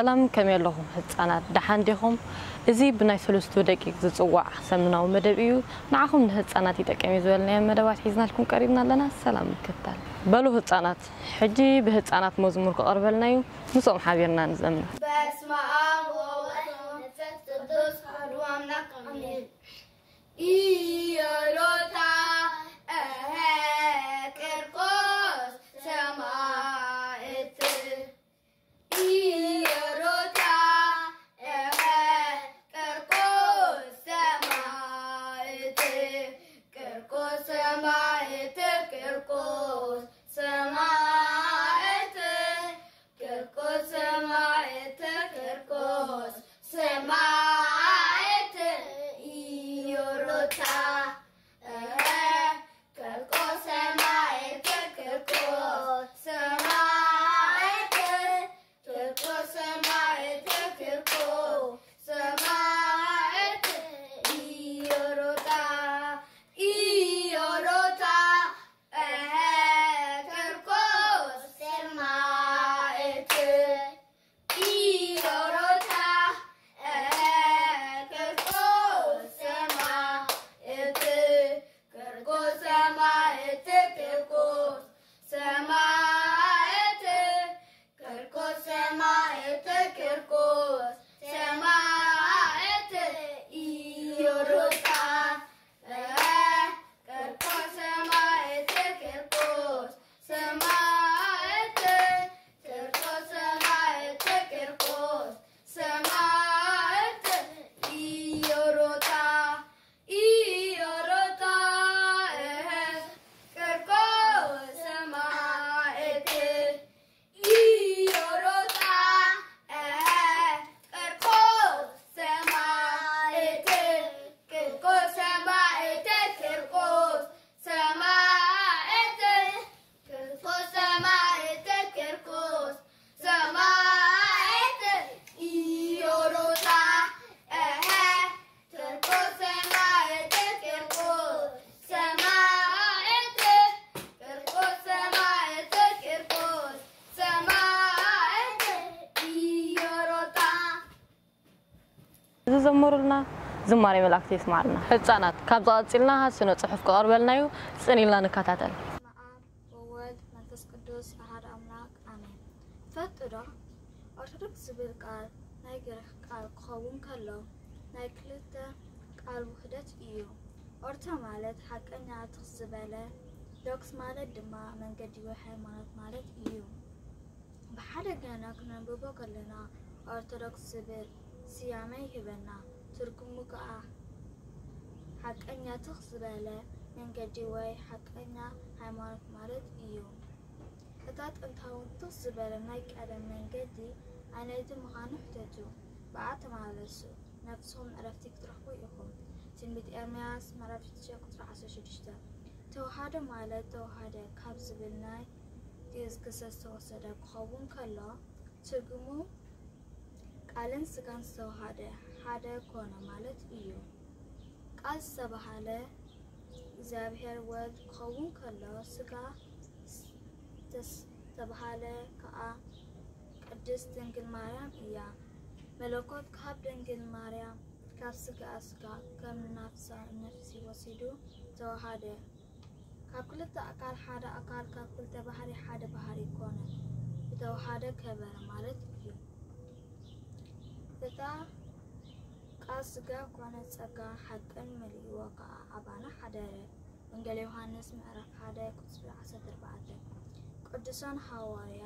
ሰላም፣ ከመይ ኣለኹም ህጻናት? ደሓን ዲኹም? እዚ ብናይ ሰለስቱ ደቂቕ ዝጽዋዕ ሰሙናዊ መደብ እዩ። ንዓኹም ንህጻናት ይጠቅም እዩ ዝበልናዮ መደባት ሒዝናልኩም ቀሪብና ኣለና። ሰላም ምክታል። በሉ ህጻናት፣ ሕጂ ብህጻናት መዝሙር ክቐርበልና እዩ። ምስኦም ሓቢርና ንዘምር። በስመ አብ ወወልድ ወመንፈስ ቅዱስ አሐዱ አምላክ አሜን። ኢዮሮታ እሀ ቂርቆስ ሰማዕት፣ ኢዮሮታ እሀ ቂርቆስ ሰማዕት፣ ቂርቆስ ሰማዕት፣ ቂርቆስ ሰማዕት፣ ቂርቆስ ሰማዕት፣ ቂርቆስ ሰማዕት፣ ኢዮሮታ እሀ ቂርቆስ ሰማዕት፣ ቂርቆስ ሰማዕት፣ ቂርቆስ ሰማዕት፣ ቂርቆስ ሰማዕት፣ ኢዮሮታ፣ ኢዮሮታ፣ እሀ ቂርቆስ ሰማዕት፣ ኢዮሮታ፣ እሀ ቂርቆስ ሰማዕት፣ ቂርቆስ ሰማዕት፣ ቂርቆስ ሰማዕት፣ ቂርቆስ ሰማዕት፣ ቂርቆስ ሰማዕት፣ ኢዮሮታ፣ እሀ ቂርቆስ ሰማዕት፣ ቂርቆስ ሰማዕት፣ ቂርቆስ ሰማዕት፣ ቂርቆስ ሰማዕት፣ ኢዮሮታ፣ ኢዮሮታ፣ እሀ ቂርቆስ ሰማዕት፣ ኢዮሮታ፣ እሀ ቂርቆስ ሰማዕት፣ ቂርቆስ ሰማዕት፣ ቂርቆስ ሰማዕት፣ ቂርቆስ ሰማዕት፣ ቂርቆስ ሰማዕት፣ ኢዮሮታ፣ እሀ ቂርቆስ ሰማዕት፣ ቂርቆስ ሰማዕት፣ ቂርቆስ ሰማዕት፣ ቂርቆስ ሰማዕት፣ ኢዮሮታ። ዝዘመሩልና ዝማሬ መላእክቲ የስማዕልና። ህጻናት፣ ካብዚ ቀጺልና ስነ ጽሑፍ ክቐርበልና እዩ። ጽን ኢልና ንከታተል። በስመ አብ ወወልድ መንፈስ ቅዱስ አሐድ አምላክ አሜን። ትፈልጡ ዶ? ኦርቶዶክስ ዝብል ቃል ናይ ግሪክ ቃል ክኸውን ከሎ ናይ ክልተ ቃል ውህደት እዩ። ኦርቶ ማለት ሓቀኛ ትኽ ዝበለ፣ ዶክስ ማለት ድማ መንገዲ ወይ ሃይማኖት ማለት እዩ። ብሓደ ገና ክነንብቦ ከለና ኦርቶዶክስ ዝብል ስያመ ይህበና። ትርጉሙ ከኣ ሓቀኛ ትኽ ዝበለ መንገዲ ወይ ሓቀኛ ሃይማኖት ማለት እዩ። እታ ጥንታውን ትኽ ዝበለ ናይ ቀደም መንገዲ ኣየነይቲ ምዃኑ ሕተቱ፣ ብኣ ተመላለሱ፣ ነፍስኹም ዕረፍቲ ክትረኽቡ ኢኹም። ትንቢት ኤርምያስ ምዕራፍ ሽዱሽተ ቁጽሪ ዓሰርተ ሽዱሽተ። ተዋሃዶ ማለት ተዋሃደ ካብ ዝብል ናይ ግእዝ ግሰ ዝተወሰደ ክኸውን ከሎ፣ ትርጉሙ ቃልን ስጋን ዝተዋሃደ ሓደ ኮነ ማለት እዩ። ቃል ዝተባህለ እግዚኣብሔር ወልድ ክኸውን ከሎ፣ ስጋ ዝተባህለ ከኣ ቅድስት ድንግል ማርያም እያ። መለኮት ካብ ድንግል ማርያም፣ ካብ ስጋኣ ስጋ፣ ከም ናፍሳ ነፍሲ ወሲዱ ተዋሃደ። ካብ ክልተ ኣካል ሓደ ኣካል፣ ካብ ክልተ ባህሪ ሓደ ባህሪ ኮነ፣ ብተዋሃደ ከበረ ማለት እዩ። እታ ቃል ስጋ ኮነ፣ ጸጋ ሓቅን መሊእዎ ከኣ ኣባና ሓደረ። ወንጌል ዮሃንስ ምዕራፍ ሓደ ቁጽሪ ዓሰርተ ኣርባዕተ። ቅዱሳን ሃዋርያ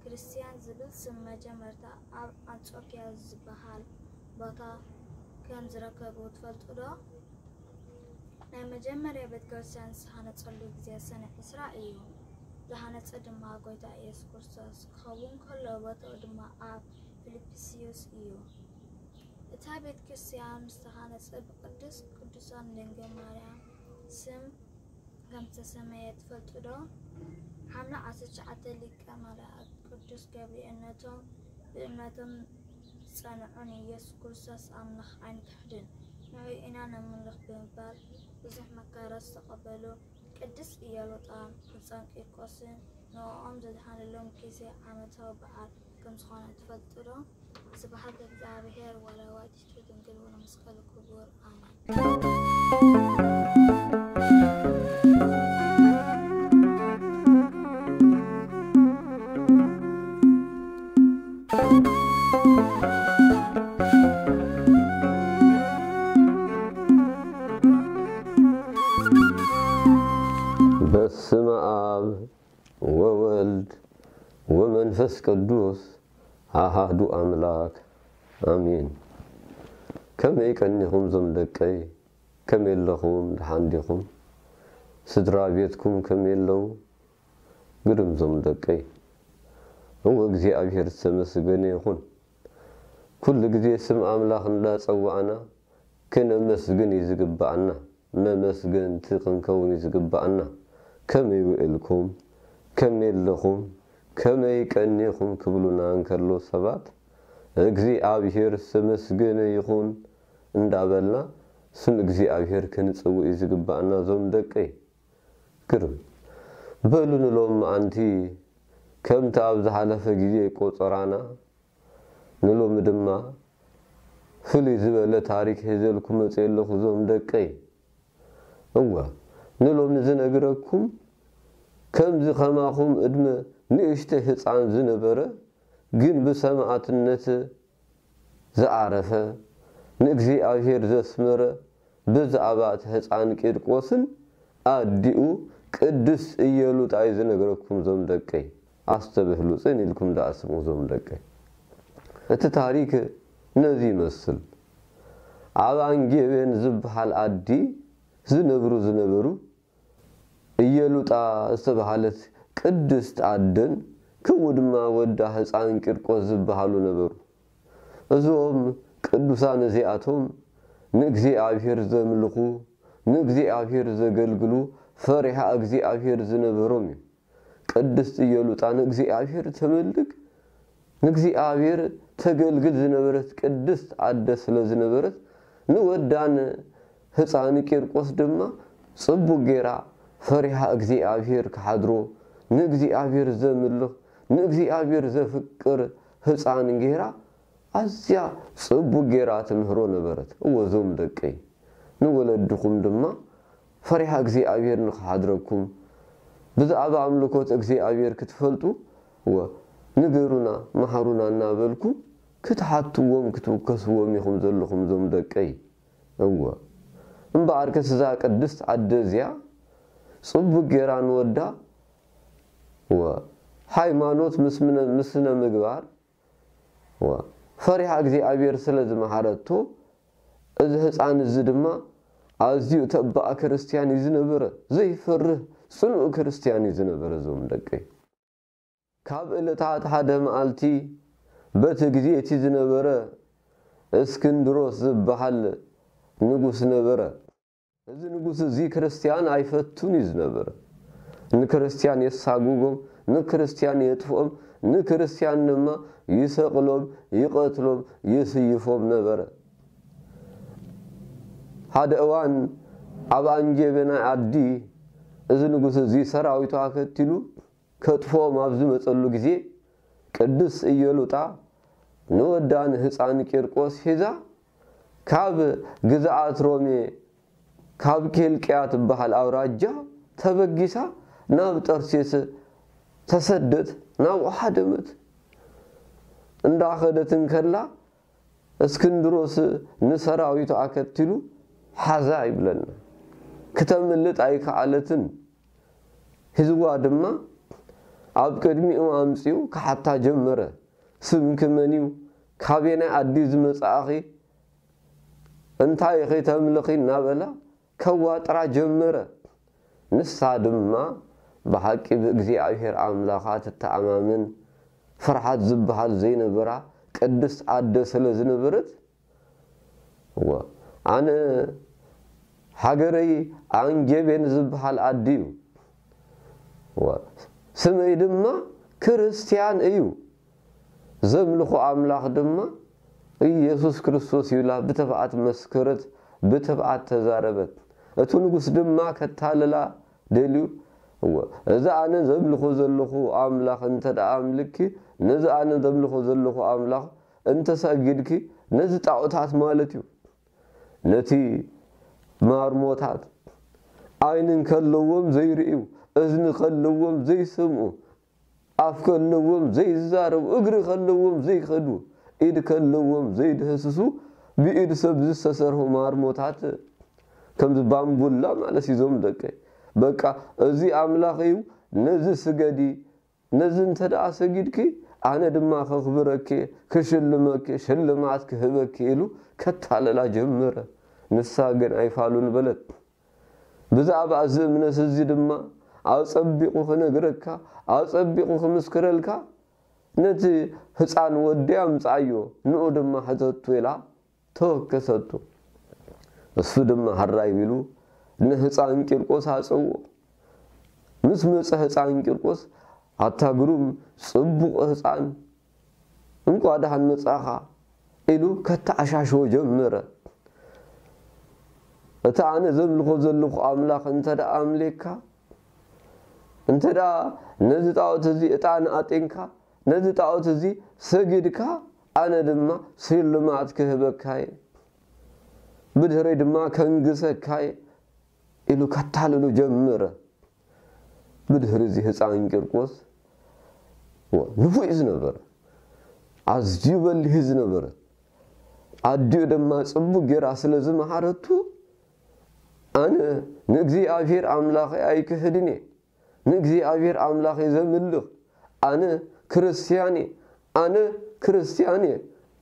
ክርስትያን ዝብል ስም መጀመርታ ኣብ ኣንጾክያ ዝበሃል ቦታ ከም ዝረከቡ ትፈልጡ ዶ? ናይ መጀመርያ ቤተ ክርስትያን ዝተሃነጸሉ ግዜ ሰነ ዕስራ እዩ። ዝሃነጸ ድማ ጎይታ ኢየሱስ ክርስቶስ ክኸውን ከሎ፣ ቦታኡ ድማ ኣብ ፊልጵስዩስ እዩ። እታ ቤተ ክርስትያን ምስ ተሃነጸ ብቅድስት ቅዱሳን ድንግል ማርያም ስም ከም ዝተሰመየ ትፈልጡ ዶ? ሓምለ ዓሰርተ ትሽዓተ ሊቀ መላእክት ቅዱስ ገብርኤል ነቶም ብእምነቶም ዝጸንዑ ንኢየሱስ ክርስቶስ ኣምላኽ ኣይንክሕድን፣ ንዑ ኢና ነምልኽ ብምባል ብዙሕ መከራ ዝተቐበሉ ቅድስት ኢዮሮጣ፣ ቅዱሳን ቂርቆስን ንዕኦም ዘድሓነሎም ግዜ ዓመታዊ በዓል ከም ዝኾነ ትፈልጡ ዶ? ስብሐት ለእግዚኣብሔር ወለወላዲቱ ድንግል ወለመስቀሉ ክቡር። ኣሜን። በስመ አብ ወወልድ ወመንፈስ ቅዱስ አሃዱ አምላክ አሜን። ከመይ ቀኒኹም ዞም ደቀይ? ከመይ ኣለኹም? ደሓን ዲኹም? ስድራ ቤትኩም ከመይ ኣለዉ? ግርም ዞም ደቀይ። እወ እግዚኣብሔር ዝተመስገነ ይኹን። ኩሉ ግዜ ስም ኣምላኽ እንዳጸዋዕና ክነመስግን እዩ ዝግብኣና። መመስገንቲ ክንከውን እዩ ዝግብኣና። ከመይ ውዕልኩም? ከመይ ኣለኹም? ከመይ ቀኒኹም? ክብሉና እንከሎ ሰባት እግዚኣብሔር ዝተመስገነ ይኹን እንዳበልና ስም እግዚኣብሔር ክንጽውዕ እዩ ዝግብኣና ዞም ደቀይ። ግርም። በሉ ንሎም መዓንቲ ከምቲ ኣብ ዝሓለፈ ግዜ ቆጸራና ንሎሚ ድማ ፍልይ ዝበለ ታሪክ ሒዘልኩም መጽየ ኣለኹ ዞም ደቀይ። እወ ንሎሚ ዝነግረኩም ከምዚ ከማኹም እድመ ንእሽተይ ህፃን ዝነበረ ግን ብሰማዕትነት ዝዓረፈ ንእግዚኣብሔር ዘስመረ ብዛዕባ እቲ ህፃን ቂርቆስን ኣዲኡ ቅድስት እየሉጣ እዩ ዝነግረኩም ዞም ደቀይ። ኣስተብህሉ፣ ጽን ኢልኩም ደኣ ስምዑ ዞም ደቀይ። እቲ ታሪክ ነዚ ይመስል። ኣብ ኣንጌቤን ዝበሃል ኣዲ ዝነብሩ ዝነበሩ እየሉጣ ዝተባህለት ቅድስት ኣደን ከምኡ ድማ ወዳ ህፃን ቂርቆስ ዝበሃሉ ነበሩ። እዞም ቅዱሳን እዚኣቶም ንእግዚኣብሔር ዘምልኹ፣ ንእግዚኣብሔር ዘገልግሉ፣ ፈሪሃ እግዚኣብሔር ዝነበሮም እዮም። ቅድስት እየሉጣ ንእግዚኣብሔር ተመልክ፣ ንእግዚኣብሔር ተገልግል ዝነበረት ቅድስት ኣደ ስለ ዝነበረት፣ ንወዳን ህፃን ቂርቆስ ድማ ጽቡቅ ጌራ ፈሪሃ እግዚኣብሔር ክሓድሮ፣ ንእግዚኣብሔር ዘምልኽ፣ ንእግዚኣብሔር ዘፍቅር ህፃን ጌራ ኣዝያ ጽቡቅ ጌራ ትምህሮ ነበረት። እወ፣ እዞም ደቀይ፣ ንወለድኹም ድማ ፈሪሃ እግዚኣብሔር ንኽሓድረኩም፣ ብዛዕባ ኣምልኮት እግዚኣብሔር ክትፈልጡ፣ እወ፣ ንገሩና፣ መሃሩና እናበልኩም ክትሓትዎም፣ ክትውከስዎም ኢኹም ዘለኹም፣ እዞም ደቀይ። እወ፣ እምበኣርከስ እዛ ቅድስት ኣደ እዚኣ ጽቡቅ ጌራ ንወዳ፣ እወ፣ ሃይማኖት ምስ ምነ-፣ ምስ ስነ ምግባር፣ እወ፣ ፈሪሃ እግዚኣብሔር ስለ ዝመሃረቶ፣ እዚ ህፃን እዚ ድማ ኣዝዩ ተባዕ ክርስትያን እዩ ዝነበረ፣ ዘይፈርህ ጽኑዕ ክርስትያን እዩ ዝነበረ። እዞም ደቀይ፣ ካብ ዕለታት ሓደ መዓልቲ በቲ ግዜ እቲ ዝነበረ እስክንድሮስ ዝበሃል ንጉስ ነበረ። እዚ ንጉስ እዚ ክርስትያን ኣይፈቱን እዩ ዝነበረ። ንክርስትያን የሳጉጎም፣ ንክርስትያን የጥፍኦም፣ ንክርስትያን ድማ ይሰቕሎም፣ ይቐትሎም፣ ይስይፎም ነበረ። ሓደ እዋን ኣብ ኣንጌቤናይ ዓዲ እዚ ንጉስ እዚ ሰራዊቱ ኣከቲሉ ከጥፍኦም ኣብ ዝመጸሉ ግዜ፣ ቅድስት እየሉጣ ንወዳ ንህፃን ቂርቆስ ሒዛ ካብ ግዝኣት ሮሜ፣ ካብ ኬልቅያ ትበሃል ኣውራጃ ተበጊሳ ናብ ጠርሴስ ተሰደት፣ ናብኡ ሓደመት። እንዳኸደት እንከላ፣ እስክንድሮስ ንሰራዊቱ ኣከቲሉ ሓዛ ይብለና። ክተምልጥ ኣይከኣለትን። ሒዝዋ ድማ ኣብ ቅድሚኡ ኣምጺኡ ክሓታ ጀመረ። ስምኪ መን እዩ? ካበየናይ ዓዲ ዝመጻእኺ? እንታይ ኢኺ ተምልኺ? እናበላ ከዋጥራ ጀመረ። ንሳ ድማ ብሓቂ ብእግዚኣብሔር ኣምላኻ ትተኣማመን፣ ፍርሃት ዝበሃል ዘይነበራ ቅድስት ኣደ ስለ ዝነበረት፣ እወ፣ ኣነ ሃገረይ ኣንጌቤን ዝበሃል ዓዲ እዩ። እወ፣ ስመይ ድማ ክርስትያን እዩ። ዘምልኾ ኣምላኽ ድማ ኢየሱስ ክርስቶስ እዩ ኢላ ብትብዓት መስከረት፣ ብትብዓት ተዛረበት። እቲ ንጉስ ድማ ከታልላ ደልዩ፣ እወ፣ እዚ ኣነ ዘምልኾ ዘለኹ ኣምላኽ እንተ ደኣ ኣምልኪ፣ ነዚ ኣነ ዘምልኾ ዘለኹ ኣምላኽ እንተ ሰጊድኪ፣ ነዚ ጣዖታት ማለት እዩ፣ ነቲ ማርሞታት፣ ዓይኒ እንከለዎም ዘይርእዩ፣ እዝኒ ከለዎም ዘይሰምዑ፣ ኣፍ ከለዎም ዘይዛረቡ፣ እግሪ ከለዎም ዘይኸዱ፣ ኢድ ከለዎም ዘይድህስሱ፣ ብኢድ ሰብ ዝተሰርሑ ማርሞታት፣ ከምዚ ባምቡላ ማለት እዩ። እዞም ደቀይ፣ በቃ፣ እዚ ኣምላኽ እዩ፣ ነዚ ስገዲ፣ ነዚ እንተ ደኣ ሰጊድኪ፣ ኣነ ድማ ከኽብረኪ፣ ክሽልመኪ፣ ሽልማት ክህበኪ፣ ኢሉ ከታልላ ጀመረ። ንሳ ግን ኣይፋሉን በለት። ብዛዕባ እዚ እምነት እዚ ድማ ኣጸቢቑ ክነግረካ፣ ኣጸቢቑ ክምስክረልካ፣ ነቲ ህጻን ወዲ ኣምጽኣዮ፣ ንኡ ድማ ሕተቱ፣ ኢላ ተወከሰቱ። እሱ ድማ ሕራይ ቢሉ ንህጻን ቂርቆስ ኣጸውኦ። ምስ መጸ ህጻን ቂርቆስ፣ ኣታ ግሩም ጽቡቕ ህጻን፣ እንቋ ደሓን መጻኻ፣ ኢሉ ከተዓሻሽዎ ጀመረ። እቲ ኣነ ዘምልኾ ዘለኹ ኣምላኽ እንተ ደኣ ኣምሌካ፣ እንተ ደኣ ነዚ ጣዖት እዚ ዕጣን ኣጢንካ፣ ነዚ ጣዖት እዚ ሰጊድካ፣ ኣነ ድማ ስልማት ክህበካ እየ፣ ብድህረይ ድማ ከንግሰካ እየ፣ ኢሉ ከታልሉ ጀመረ። ብድህሪ እዚ ህፃን ቂርቆስ፣ ወ-፣ ንፉዕ እዩ ዝነበረ፣ ኣዝዩ በሊህ እዩ ዝነበረ። ኣዲኡ ድማ ፅቡቅ ጌራ ስለ ዝመሃረቱ፣ ኣነ ንእግዚኣብሔር ኣምላኸይ ኣይክህድን እየ፣ ንእግዚኣብሔር ኣምላኸይ ዘምልኽ፣ ኣነ ክርስትያን እየ፣ ኣነ ክርስትያን እየ፣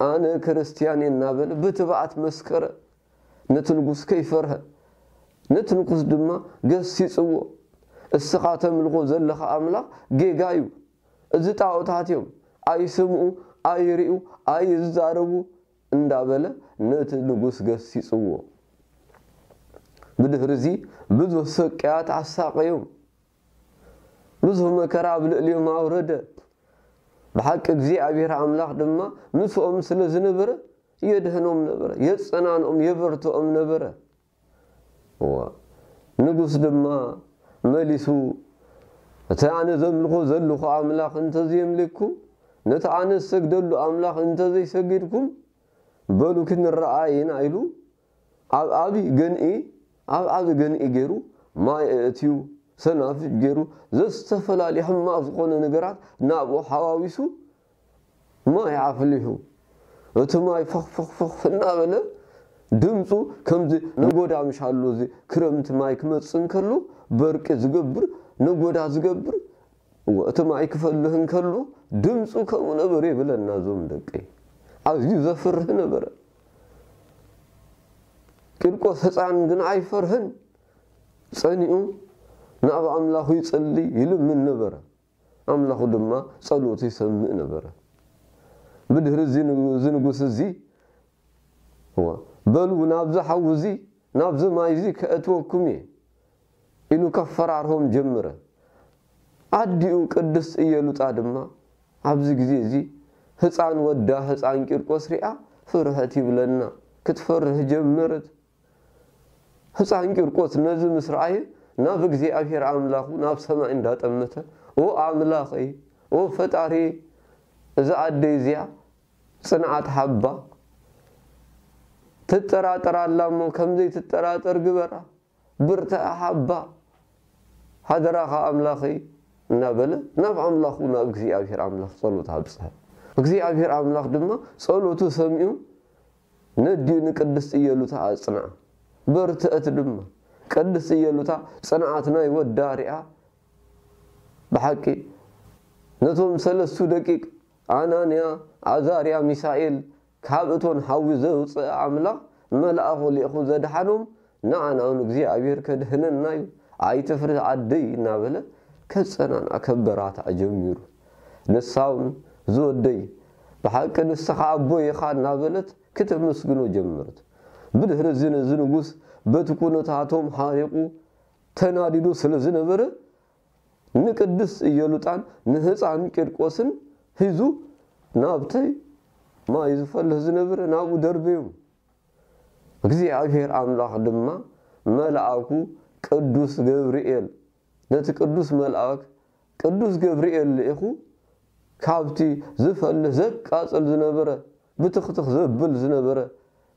ኣነ ክርስትያን እየ እናበለ ብትብዓት መስከረ። ነቲ ንጉስ ከይፈርሀ፣ ነቲ ንጉስ ድማ ገሲጽዎ። እስኻ ተምልኾ ዘለኻ ኣምላኽ ጌጋ እዩ። እዚ ጣዖታት እዮም። ኣይስምዑ፣ ኣይርእዩ፣ ኣይዛረቡ እንዳበለ ነቲ ንጉስ ገሲጽዎ። ብድሕሪ እዚ ብዙሕ ስቅያት ኣሳቀዮም። ብዙሕ መከራ ኣብ ልዕሊኦም ኣውረደ። ብሓቂ እግዚኣብሔር ኣምላኽ ድማ ምስኦም ስለ ዝነበረ የድህኖም ነበረ፣ የጸናንኦም፣ የበርትኦም ነበረ። እዋ፣ ንጉስ ድማ መሊሱ፣ "እቲ ኣነ ዘምልኾ ዘለኹ ኣምላኽ እንተዘየምሊኩም፣ ነቲ ኣነ ዝሰግደሉ ኣምላኽ እንተዘይሰጊድኩም፣ በሉ ክንረኣየና" ኢሉ ኣብ ዓቢ ገንኢ፣ ኣብ ዓቢ ገንኢ ገይሩ ማይ ኣእትዩ፣ ሰናፍጭ ገይሩ፣ ዘዝተፈላለየ ሕማቕ ዝኾነ ነገራት ናብኡ ሓዋዊሱ ማይ ኣፍሊሑ። እቲ ማይ ፈኽ ፈኽ ፈኽ እናበለ ድምፁ ከምዚ ነጎዳ ምሽ ኣሎ፣ እዚ ክረምቲ ማይ ክመፅእ እንከሎ በርቂ ዝገብር ነጎዳ ዝገብር እወ፣ እቲ ማይ ክፈልህ እንከሎ ድምፁ ከምኡ ነበር ይብለና። እዞም ደቀይ ኣዝዩ ዘፍርህ ነበረ። ቂርቆስ ህፃን ግን ኣይፈርህን። ጸኒኡ ናብ ኣምላኹ ይጽሊ፣ ይልምን ነበረ። ኣምላኹ ድማ ጸሎቱ ይሰምዕ ነበረ። ብድሕሪ እዚ ን-፣ እዚ ንጉስ እዚ፣ እወ፣ "በሉ ናብዚ ሓዊ እዚ፣ ናብዚ ማይ እዚ ከእትወኩም እየ" ኢሉ ከፈራርሆም ጀመረ። ኣዲኡ ቅድስት ኢየሉጣ ድማ ኣብዚ ግዜ እዚ ህፃን ወዳ ህፃን ቂርቆስ ሪኣ ፍርሕት ይብለና፣ ክትፈርህ ጀመረት። ህፃን ቂርቆስ ነዚ ምስ ረኣየ ናብ እግዚኣብሔር ኣምላኹ ናብ ሰማይ እንዳጠመተ፣ "ኦ ኣምላኸይ፣ ኦ ፈጣሪ፣ እዛ ኣደይ እዚኣ ጽንዓት ሃባ፣ ትጠራጠር ኣላ እሞ ከምዘይትጠራጠር ግበራ፣ ብርትዐ ሃባ፣ ሃደራኻ ኣምላኸይ" እናበለ ናብ ኣምላኹ ናብ እግዚኣብሔር ኣምላኽ ጸሎት ኣብጽሐ። እግዚኣብሔር ኣምላኽ ድማ ጸሎቱ ሰሚዑ ነዲኡ ንቅድስት ኢየሉታ ኣጽንዓ፣ በርትዐት ድማ። ቅድስት ኢየሉታ ጽንዓት ናይ ወዳ ሪኣ፣ ብሓቂ ነቶም ሰለስቱ ደቂቅ ኣናንያ፣ ኣዛርያ፣ ሚሳኤል ካብ እቶን ሓዊ ዘውፅአ ኣምላኽ መልኣኹ ልኢኹ ዘድሓኖም ንዓና እውን እግዚኣብሔር ከድህነና እዩ፣ ኣይትፍርህ ኣደይ እናበለ ከጸናንዓ ከበራትዓ ጀሚሩ። ንሳ እውን ዝወደይ ብሓቂ ንስኻ ኣቦይ ኢኻ እናበለት ክተመስግኖ ጀመረት። ብድሕሪ እዚ ነዚ ንጉስ በቲ ኩነታቶም ሓሪቑ ተናዲዱ ስለ ዝነበረ ንቅድስት ኢየሉጣን ንህፃን ቂርቆስን ሒዙ ናብቲ ማይ ዝፈልህ ዝነበረ ናብኡ ደርበዮም። እግዚኣብሔር ኣምላኽ ድማ መልኣኩ ቅዱስ ገብርኤል ነቲ ቅዱስ መልኣክ ቅዱስ ገብርኤል ልኢኹ፣ ካብቲ ዝፈልህ ዘቃጽል ዝነበረ፣ ብትኽትኽ ዘብል ዝነበረ፣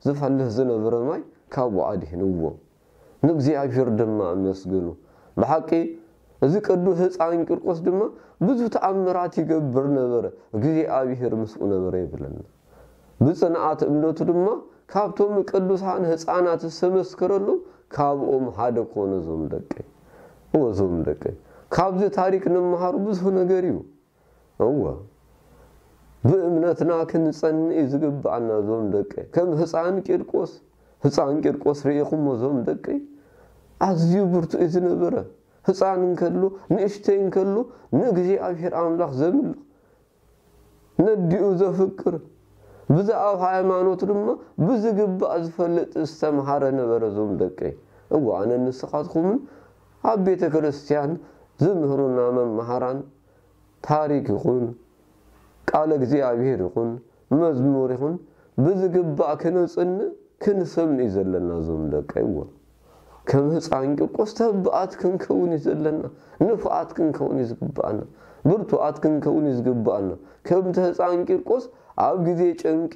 ዝፈልህ ዝነበረ ማይ ካብኡ ኣድሒንዎ። ንእግዚኣብሔር ድማ ኣመስግኑ። ብሓቂ እዚ ቅዱስ ህፃን ቂርቆስ ድማ ብዙ ተኣምራት ይገብር ነበረ። እግዚኣብሔር ምስኡ ነበረ ይብለና። ብፅንዓት እምነቱ ድማ ካብቶም ቅዱሳን ህፃናት ዝተመስከረሉ ካብኦም ሓደ ኮነ። ዞም ደቀይ፣ እወ ዞም ደቀይ፣ ካብዚ ታሪክ ንመሃሩ ብዙ ነገር እዩ። እወ ብእምነትና ክንፀንእ እዩ ዝግብኣና። ዞም ደቀይ፣ ከም ህፃን ቂርቆስ፣ ህፃን ቂርቆስ ርኢኹሞ ዞም ደቀይ፣ ኣዝዩ ብርቱዕ እዩ ዝነበረ። ህፃን እንከሎ፣ ንእሽተይ እንከሎ ንእግዚኣብሔር ኣምላኽ ዘምልኽ፣ ነዲኡ ዘፍቅር፣ ብዛዕባ ሃይማኖት ድማ ብዝግባእ ዝፈልጥ ዝተምሃረ ነበረ። ዞም ደቀይ፣ እወ ኣነ ንስኻትኩምን ኣብ ቤተ ክርስቲያን ዝምህሩና መምሃራን ታሪክ ይኹን ቃለ እግዚኣብሔር ይኹን መዝሙር ይኹን ብዝግባእ ክነጽንእ ክንሰምዕ እዩ ዘለና። ዞም ደቀይ፣ እወ ከም ህፃን ቂርቆስ ተባኣት ክንከውን እዩ ዘለና። ንፉዓት ክንከውን እዩ ዝግባኣና። ብርቱዓት ክንከውን እዩ ዝግባኣና። ከምቲ ህፃን ቂርቆስ ኣብ ግዜ ጨንቂ፣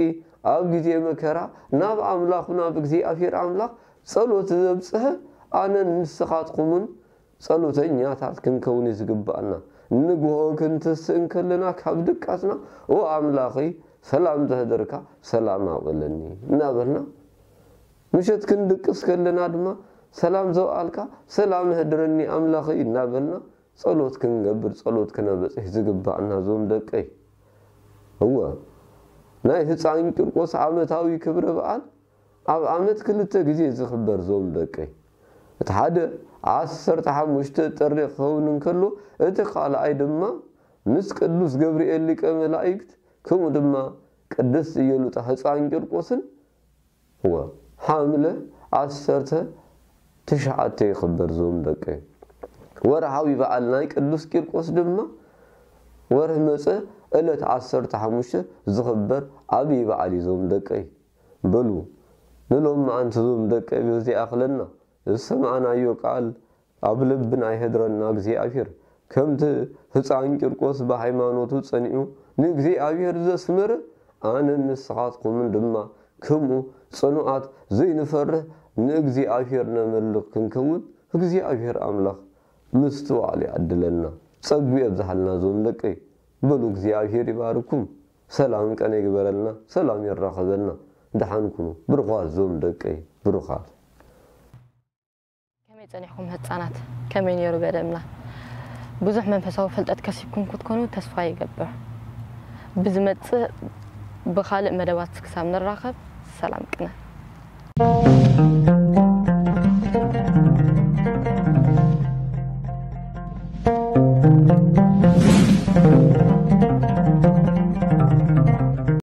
ኣብ ግዜ መከራ ናብ ኣምላኹ ናብ እግዚኣብሔር ኣምላኽ ጸሎት ዘብጽሐ ኣነን ንስኻትኩምን ጸሎተኛታት ክንከውን እዩ ዝግባኣና። ንግሆ ክንትስእ እንከለና ካብ ድቃስና፣ "ኦ ኣምላኸይ፣ ሰላም ዘህደርካ ሰላም ኣውዕለኒ" እናበልና፣ ምሸት ክንድቅስ ከለና ድማ፣ "ሰላም ዘውዓልካ ሰላም ኣህድረኒ ኣምላኸይ" እናበልና ጸሎት ክንገብር፣ ጸሎት ክነበጽሕ ዝግባኣና ዞም ደቀይ። እወ፣ ናይ ህፃን ቂርቆስ ዓመታዊ ክብረ በዓል ኣብ ዓመት ክልተ ግዜ ዝኽበር ዞም ደቀይ። እቲ ሓደ ዓሰርተ ሓሙሽተ ጥሪ ክኸውን እንከሎ፣ እቲ ካልኣይ ድማ ምስ ቅዱስ ገብርኤል ሊቀ መላእክት፣ ከምኡ ድማ ቅድስት ኢየሉጣ ህፃን ቂርቆስን፣ እወ፣ ሓምለ ዓሰርተ ትሽዓተ ይኽበር ዞም ደቀይ። ወርሓዊ በዓል ናይ ቅዱስ ቂርቆስ ድማ ወርሒ መጸ ዕለት ዓሰርተ ሓሙሽተ ዝኽበር ዓብዪ በዓል እዩ ዞም ደቀይ። በሉ ንሎሚ መዓንቲ ዞም ደቀይ በዚ ይኣኽለና። ዝሰማዕናዮ ቃል ኣብ ልብና ይሕድረና እግዚኣብሔር። ከምቲ ህፃን ቂርቆስ ብሃይማኖቱ ጸኒዑ ንእግዚኣብሔር ዘስመረ፣ ኣነን ንስኻትኩምን ድማ ከምኡ ጽኑዓት ዘይንፈርህ ንእግዚኣብሔር ነመልኽ ክንከውን እግዚኣብሔር ኣምላኽ ምስትውዓል ይዓድለና። ጸጉ የብዝሓልና ዞም ደቀይ። በሉ እግዚኣብሔር ይባርኩም። ሰላም ቀነ ይግበረልና። ሰላም የራኸበና። ደሓን ኩኑ። ብሩኻት ዞም ደቀይ። ብሩኻት። ከመይ ጸኒሕኩም ህጻናት? ከመይ ነይሩ በደምና? ብዙሕ መንፈሳዊ ፍልጠት ከሲብኩም ክትኮኑ ተስፋ ይገብር። ብዝመጽእ ብኻልእ መደባት ክሳብ ንራኸብ ሰላም ቅነ።